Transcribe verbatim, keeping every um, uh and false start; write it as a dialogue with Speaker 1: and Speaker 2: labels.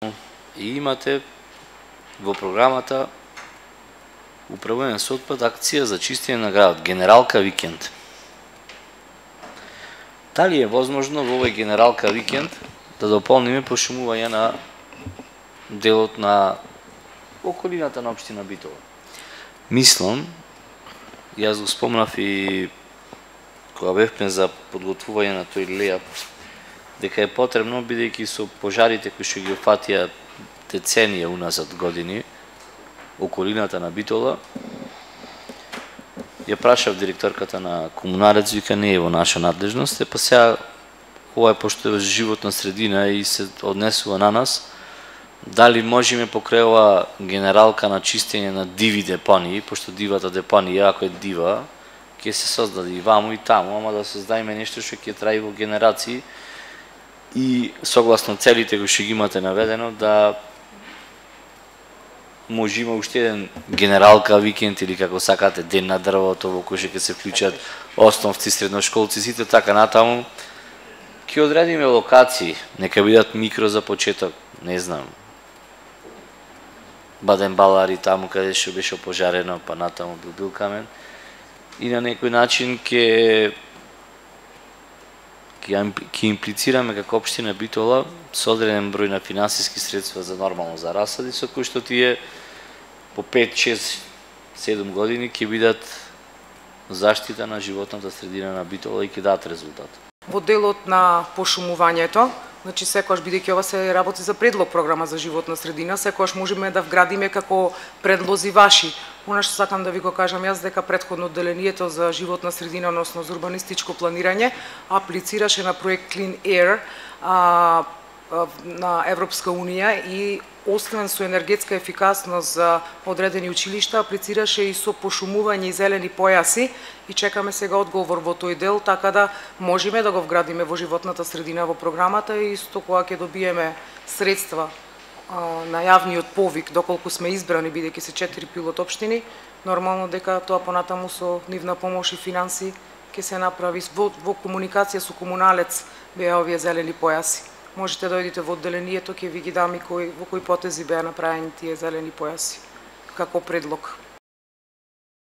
Speaker 1: И имате во програмата управување со отпад акција за чистење на градот, Генералка викенд. Дали е возможно во овој Генералка викенд да дополниме пошумување на делот на околината на општина Битола? Мислам, јас го спомнав и кога бевме за подготвување на тој лејап, дека е потребно, бидејќи со пожарите кои што ги опфатија деценија уназад години околината на Битола, ја прашав директорката на Комуналец, вика не е во наша надлежност, па сега ова е пошто е животна средина и се однесува на нас, дали можеме покрај ова генералка на чистење на диви депонии, пошто дивата депонија, ако е дива, ќе се создаде и ваму и таму, ама да создадеме нешто што ќе траи во генерации и согласно целите кои што ги имате наведено, да може има уште еден Генералка викенд или како сакате ден на дрвото во кој што ќе се вклучат основци, средношколци, сите така натаму. Ќе одредиме локации, нека бидат микро за почеток, не знам. Баден Балари таму каде што беше опожарено, па натаму бил бил камен. И на некој начин ќе ќе имплицираме како општина Битола со одреден број на финансиски средства за нормално за расади, со кои што тие по пет, шест, седум години ќе бидат заштита на животната средина на Битола и ќе дадат резултат.
Speaker 2: Во делот на пошумувањето, значи секогаш бидејќи ова се работи за предлог програма за животна средина, секогаш можеме да вградиме како предлози ваши. Она што сакам да ви го кажам јас, дека претходно одделението за животна средина, односно за урбанистичко планирање, аплицираше на проект Clean Air а, а, на Европска унија и освен со енергетска ефикасност за одредени училишта, аплицираше и со пошумување и зелени појаси и чекаме сега одговор во тој дел, така да можеме да го вградиме во животната средина во програмата и исто кога ќе добиеме средства на јавниот повик, доколку сме избрани, бидејќи се четири пилот општини, нормално дека тоа понатаму со нивна помош и финанси ќе се направи во, во комуникација со Комуналец беа овие зелени појаси. Можете да дојдете во одделението, ќе ви ги дам и кој, во кои потези беа направени тие зелени појаси како предлог.